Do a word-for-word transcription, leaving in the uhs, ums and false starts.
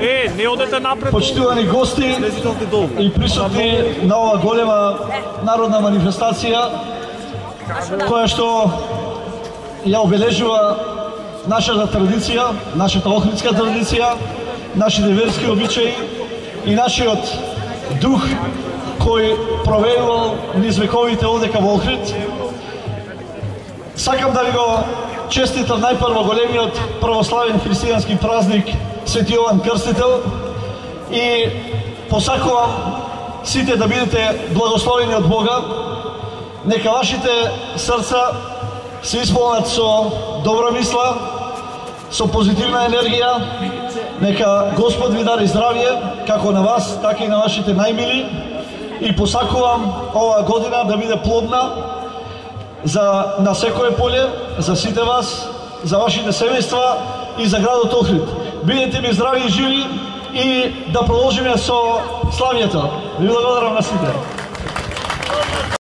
Е, не одете напред. Почитувани гости и присутни на ова голема народна манифестација, која што ја обележува нашата традиција, нашата охридска традиција, нашите верски обичаи и нашиот дух кој проведувал низ вековите одека во Охрид. Сакам да ви го честитам најпрво големиот православен христијански празник Свети Јован Крстител и посакувам сите да бидете благословени од Бога. Нека вашите срца се исполнат со добра мисла, со позитивна енергија. Нека Господ ви дари здравје, како на вас, така и на вашите најмили. И посакувам оваа година да биде плодна за на секое поле, за сите вас, за вашите семејства и за градот Охрид. Бидете ми здрави и живи и да продолжиме со славието. Ви благодарам на сите.